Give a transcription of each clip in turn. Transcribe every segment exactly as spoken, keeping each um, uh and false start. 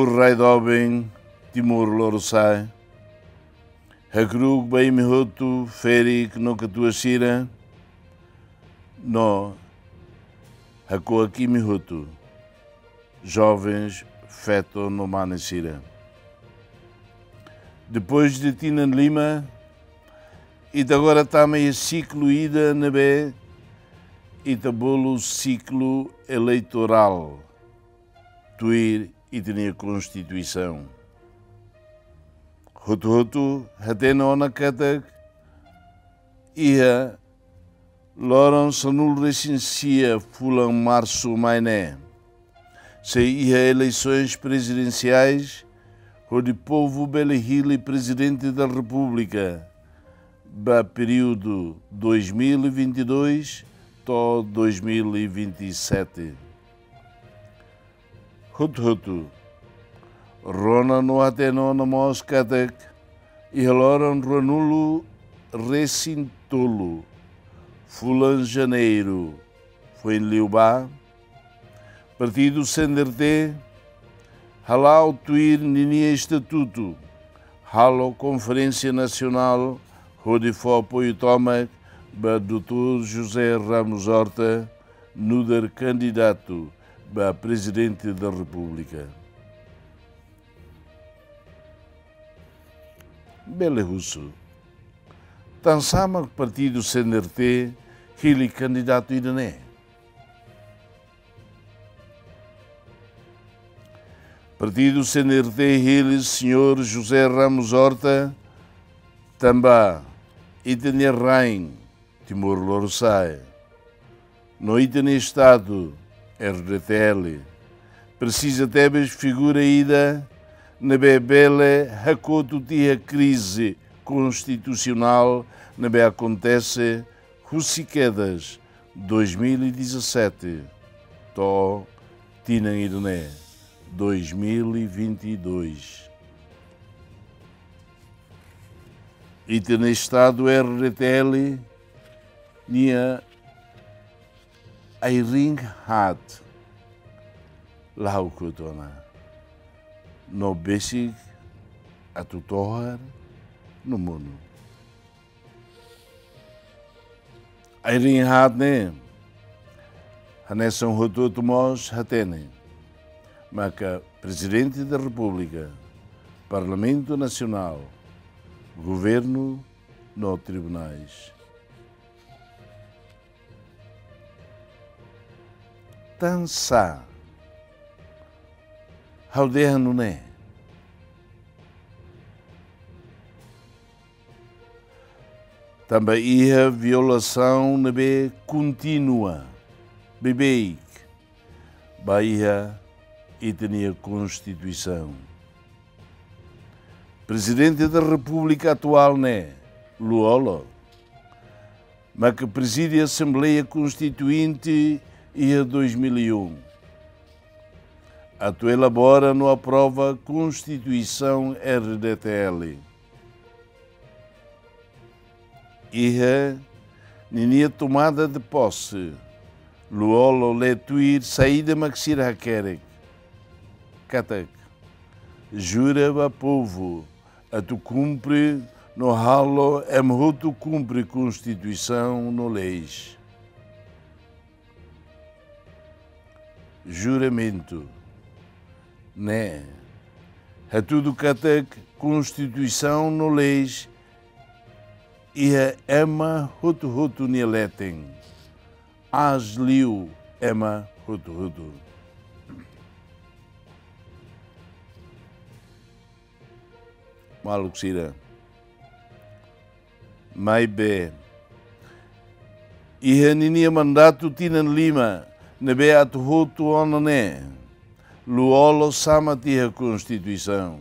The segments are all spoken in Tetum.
Rai doben Timor Lorosa'e, hakru'uk ba imi hotu, ferik no katuas sira, no hakuak imi hotu, jovens, feto no mane sira. Depois de tinan lima, ita agora tama iha siklu ida ne'ebé ita bolu siklu eleitorál, tuir ita-nia Konstituisaun. Hotu-hotu hatene ona katak iha loron sanulu-resin-sia fulan Marsu mai ne'e, sei iha eleisoens prezidensiais, hodi povu bele hili Prezidente da Repúblika ba períodu dois mil e vinte e dois to'o dois mil e vinte e sete. Hotu-hotu rona no hatene ona mós katak iha loron ruanulu-resin-tolu fulan Janeiru foin liubá, Partidu C N R T hala'o tuir ninia estatutu, halo konferénsia nasionál hodi fó apoiu tomak ba doutór José Ramos Horta nu'udar kandidatu ba Prezidente da Repúblika. Bele husu: tansá mak Partidu C N R T hili kandidatu ida-ne'e? Partidu C N R T hili señór José Ramos Horta tanba ita-nia rain, Timor Lorosa'e, no ita-nia Estadu, R D T L, presiza tebes figura ida ne'ebé bele hakotu tiha krize konstitusionál ne'ebé akontese husi kedas dois mil e dezassete to'o tinan ida-ne'e, dois mil e vinte e dois. Ita-nia Estadu, R D T L, nia ai-riin haat, la'o kotu ona, no besik atu tohar no monu. Ai-riin haat ne'e, hanesan hotu-hotu mós hatene, maka Prezidente da Repúblika, Parlamentu Nasionál, Governu no tribunais. Tansá ha'u dehan nune'e? Tanba iha violasaun ne'ebé kontínua, beibeik, ba iha ita-nia Konstituisaun. Prezidente da Repúblika atuál ne'e, Lú-Olo, maka prezide Asembleia Konstituinte iha dois mil e um, atu elabora no aprova Konstituisaun R D T L. Iha ninia tomada de posse, Lú-Olo lee tuir saida mak sira hakerek, katak: jura ba povu atu kumpre no halo ema hotu kumpre Konstituisaun no leis. Juramentu ne'e hatudu katak Konstituisaun no leis iha ema hotu-hotu nia leten, aas liu ema hotu-hotu. Maluk sira, maibé iha ninia mandatu tinan lima ne'ebé atu hotu ona ne'e, Lú-Olo sama tiha Konstituisaun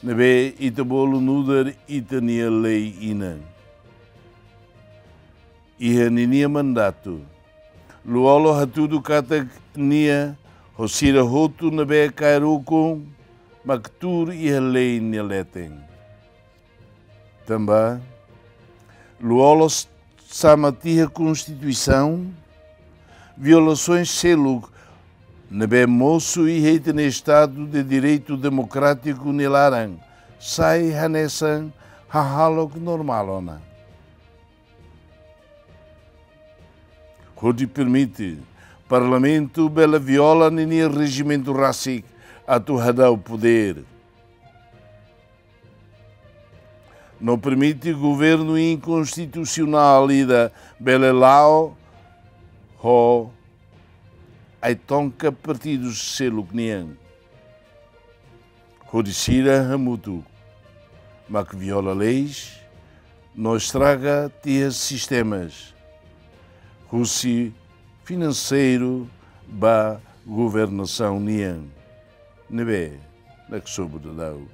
ne'ebé ita bolu nu'udar ita-nia lei-inan. Iha ninia mandatu, Lú-Olo hatudu katak nia ho sira hotu ne'ebé kaer ukun mak tuur iha lei nia leten. Tanba Lú-Olo s-, sama tiha Konstituisaun, violasoens seluk ne'ebé mosu iha ita-nia Estadu de Direitu Demokrátiku nia laran, sai hanesan hahalok normál ona. Hodi permite Parlamentu bele viola ninia rejimentu rasik atu hadau podér. No permite governu inkonstitusionál ida bele la'o ho ai-tonka partidu seluk nian. Hodi sira hamutuk mak viola leis, no estraga tiha sistemas, husi finanseiru ba governasaun nian, ne'ebé naksobu daudaun.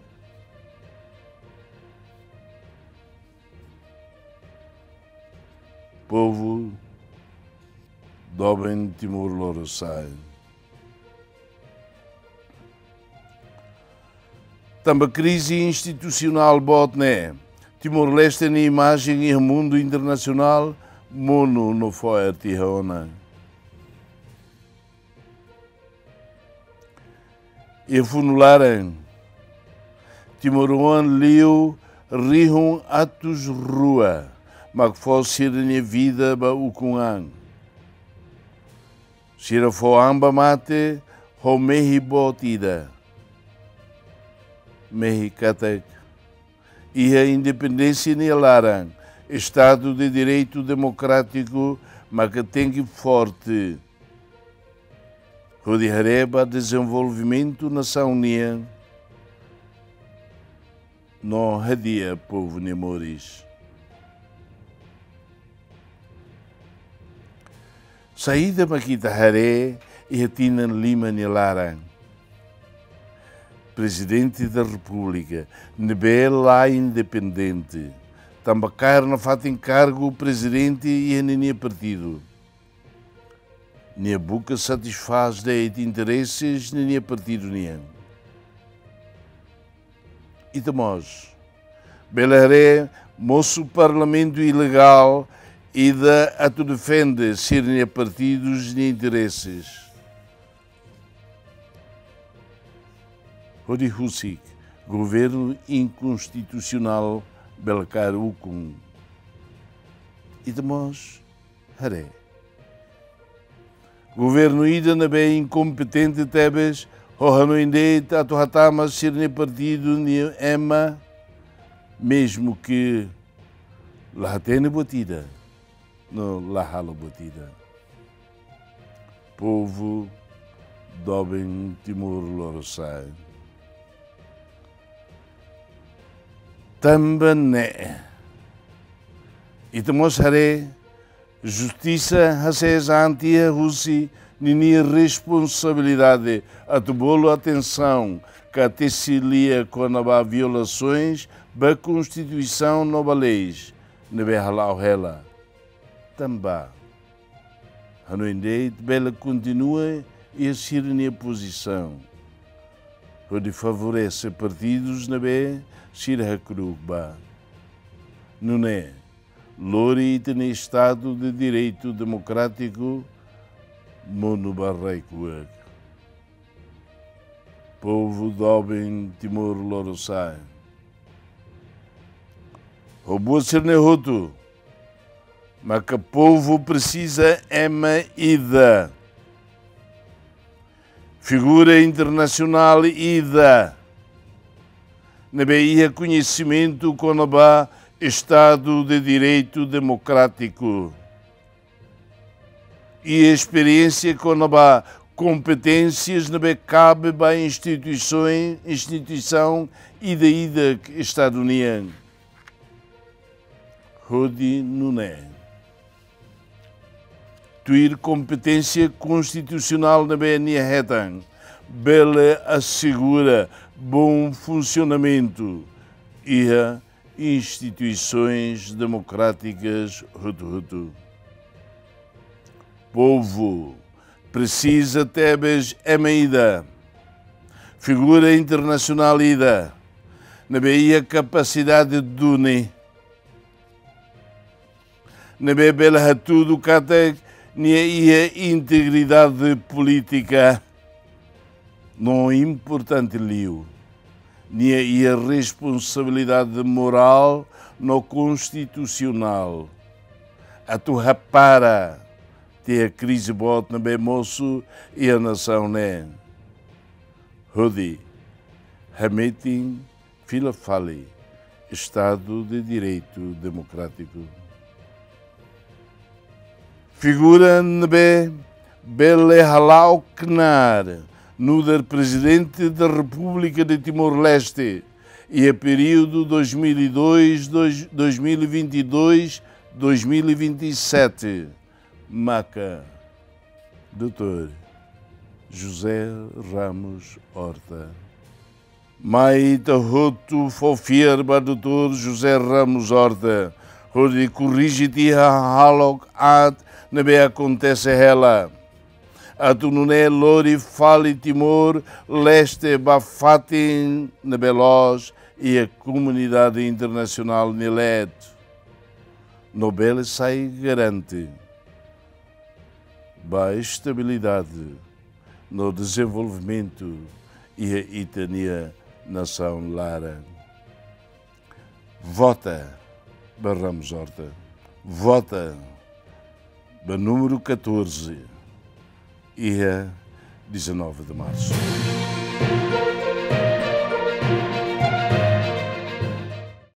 Povu doben Timor Lorosa'e. Tanba krize institusionál boot ne'e, Timor-Leste nia imajen iha mundu internasionál monu no fo'er tiha ona. Iha funu laran, timoroan liu rihun atus rua mak fó sira-nia vida ba ukun an. Sira fó an ba mate ho mehi boot ida. Mehi katak iha independénsia nia laran, Estadu de Direitu Demokrátiku maka tenke forte hodi haree ba dezenvolvimentu nasaun nian no hadi'a povu nia moris. Saida mak ita haree iha tinan lima nia laran? Prezidente da Repúblika ne'ebé la independente, tanba kaer nafatin kargu prezidente iha ninia partidu. Nia buka satisfás de'it intereses ninia partidu nian. Ita mós bele haree mosu parlamentu ilegál ida atu defende sira-nia partidus nia intereses. Hodi husik governu inkonstitusionál bele kaer ukun. Ita mós haree governu ida ne'ebé inkompetente tebes, ho hanoin de'it atu hatama sira-nia partidu nia ema, mezmu ke la hatene buat ida no la halo buat ida. Povu doben Timor Lorosa'e. Tanba ne'e, ita mós haree justisa hasees an tiha husi ninia responsabilidade atu bolu atensaun ka tesi lia kona-ba violasoens ba Konstituisaun no ba leis ne'ebé hala'o hela. Tanba hanoin de'it bele kontinua iha sira-nia pozisaun hodi favorese partidus ne'ebé sira hakru'uk ba. Nune'e, lori ita-nia Estadu de Direitu Demokrátiku monu ba rai-kuak. Povu doben Timor Lorosa'e. Ho buat sira-ne'e hotu, maka povu presiza ema ida, figura internasionál ida, ne'ebé iha koñesimentu kona-ba Estadu de Direitu Demokrátiku, i esperiénsia kona-ba kompeténsias ne'ebé kabe ba instituisaun, instituisaun ida-idak Estadu nian. Hodi nune'e, tuir kompeténsia konstitusionál ne'ebé nia hetan, bele asegura bom funsionamentu iha instituisoens demokrátikas hotu-hotu. Povu presiza tebes ema ida, figura internasionál ida, ne'ebé iha kapasidade duni, ne'ebé bele hatudu katak nia iha integridade polítika, No importante liu, nia iha responsabilidade morál no konstitusionál atu hapara tiha krize boot ne'ebé mosu iha nasaun ne'e, hodi hametin fila fali Estadu de Direitu Demokrátiku. Figura ne'ebé bele hala'o knaar nu'udar Prezidente da Repúblika de Timor-Leste iha períodu dois mil e dois, dois, dois mil e vinte e dois, dois mil e vinte e sete, maka doutór José Ramos Horta. Mai ita hotu fó fiar ba doutór José Ramos Horta hodi korrije tiha hahalok aat ne'ebé akontese hela, atu nune'e lori fali Timor-Leste ba fatin ne'ebé loos iha komunidade internasionál nia leet, no bele sai garante ba estabilidade no dezenvolvimentu iha ita-nia nasaun laran. Vota ba Ramos Horta. Vota ba númeru catorze, iha dezanove de março.